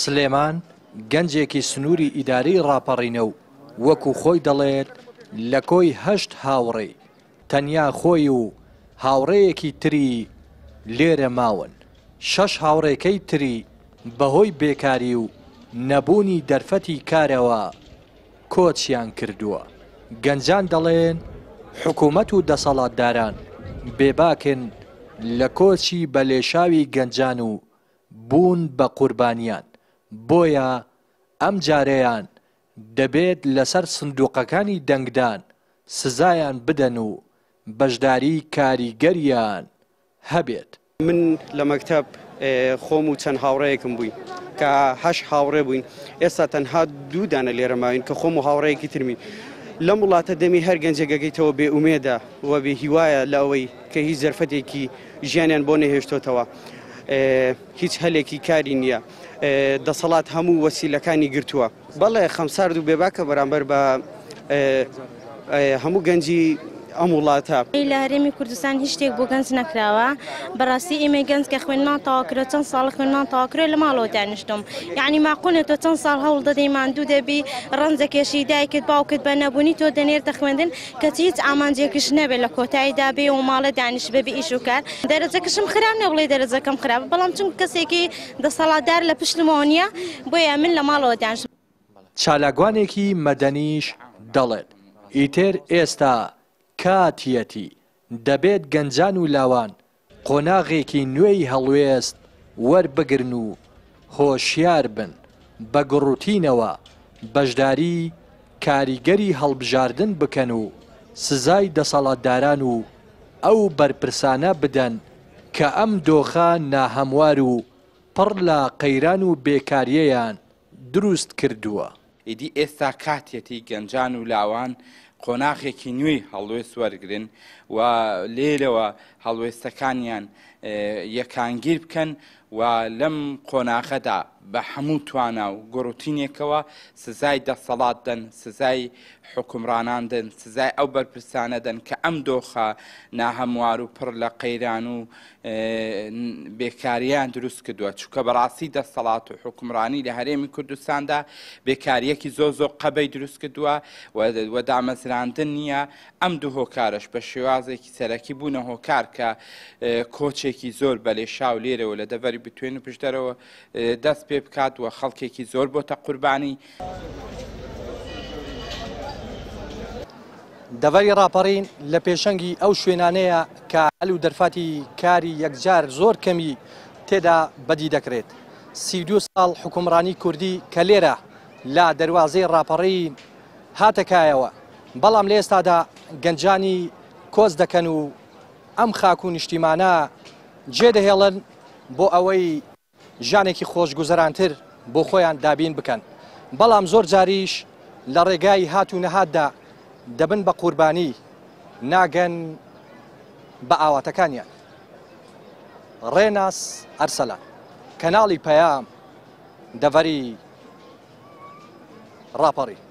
سلێمان گەنجێکی سنووری ئیدارەی ڕاپەڕینە و وەکو خۆی دەڵێت لە کۆی هەشت هاوڕێی تەنیا خۆی و هاوڕێیەکی تری لێرە ماون، شەش هاوڕێکەی تری بەهۆی بێکاری و نەبوونی دەرفەتی کارەوە کۆچیان کردووە. گەنجان دەڵێن حکومەت و دەسەڵاتداران بێباکن لە کۆچی بە لێشاوی گەنجان و بوون بە قوربانیان، بۆیە ئەمجارەیان دەبێت لەسەر سندوقەکانی دەنگدان سزایان بدەن و بەشداری کاریگەریان هەبێت. من لە مەکتەب خۆم و چەند هاوڕێیەکم بووین کە هەشت هاوڕێ بووین، ئێستا تەنها دوو دانە لێرە ماوین کە خۆم و هاوڕێیەکی ترمین. لەم وڵاتە دەمی هەر گەنجێک ئەگەیتەوە بێ ئومێدە و بێ هیوایە لە ئەوەی کە هیچ دەرفەتێکی ژیانیان بۆ نەهێشتۆتەوە، هیچ هەلێکی کاری نییە، دەسەڵات هەموو وەسیلەکانی گرتووە. بەڵێ خەمسارد و بێباکە بەرامبەر بە هەموو گەنجی ئەم وڵاتە. لە هەرێمی کوردستان هیچ شتێک بۆ گەنج نەکراوە، بەڕاستی ئێمەی گەنج کە خوێندمان تەواو کردووە چەند ساڵە خوێندمان تەواو کردووە لە ماڵەوە دانیشتووم، یەعنی ماقوول نیە تۆ چەند ساڵ هەوڵ دەدەی ماندوو دەبی ڕەنجەکێشی دایکت باوکت بە نەبوونی تۆ دەنێرتە خوێندن کەچی هیچ ئامانجێکیش نەبێت لە کۆتاییدا بێ و ماڵێ دانیشتبێ بێ ئیش و کار، دەرەجەکەشم خراپ نیە بڵێی دەرەجەکەم خراپە بەڵام چونکە کەسێکی دەسەڵاتدار لە پشتمەوە نییە بۆیە من لە ماڵەوە دانیشتم. چالاکوانێکی مەدەنیش دەڵێت، ئیتر ئێستا کاتیەتی دەبێت گەنجان و لاوان قۆناغێکی نوێی هەڵوێست وەربگرن و هۆشیار بن، بە گوڕوتینەوە بەشداری کاریگەری هەڵبژاردن بکەن و سزای دەسەڵاتداران و ئەو بەرپرسانە بدەن کە ئەم دۆخە ناهەموار و پڕ لە قەیران و بێکارییەیان دروست کردووە. ئیدی ئێستا کاتیەتی گەنجان و لاوان قۆناغێکی نوێی هەڵوێست وەرگرن و لێرەوە هەڵوێستەکانیان یەکانگیر بکەن و لەم قۆناغەدا بە هەموو توانا و گوڕوتینێکەوە سزای دەسەڵات دەن، سزای حوکمڕانان دەن، سزای ئەو بەرپرسانە دەن کە ئەم دۆخە ناهەموار و پڕ لە قەیران و بێکارییان دروست کردووە، چونکە بەڕاستی دەسەڵات و حوکمڕانی لە هەرێمی کوردستاندا بێکارییەکی زۆر زۆر قەبەی دروست کردووە و دامەزراندن نییە، ئەم دوو هۆکارەش بە شێوازێکی سەرەکی بوونە هۆکار کە کۆچێکی زۆر بەلێشاو لێرەوە لە دەڤەری بتوێن و پشدەرەوە دەست پێ بکات و خەڵکێکی زۆر بۆتە قوربانی. دەڤەری ڕاپەڕین لە پێشەنگی ئەو شوێنانەیە کە هەل و دەرفەتی کاری یەکجار زۆر کەمی تێدا بەدی دەکرێت. 32 ساڵ حوکمڕانی کوردی کە لێرە لە دەروازەی ڕاپەڕین هاتە کایەوە، بەڵام لە ئێستادا گەنجانی کۆچ دەکەن و ئەم خاک و نیشتیمانە جێدەهێڵن بۆ ئەوەی ژیانێکی خۆشگوزەرانتر بۆ خۆیان دابین بکەن، بەڵام زۆر جاریش لە ڕێگای هات و نەهاتدا دەبن بە قوربانی، ناگەن بە ئاواتەکانیان. ڕێناس ئەرسەلان، کەناڵی پەیام، دەڤەری ڕاپەڕین.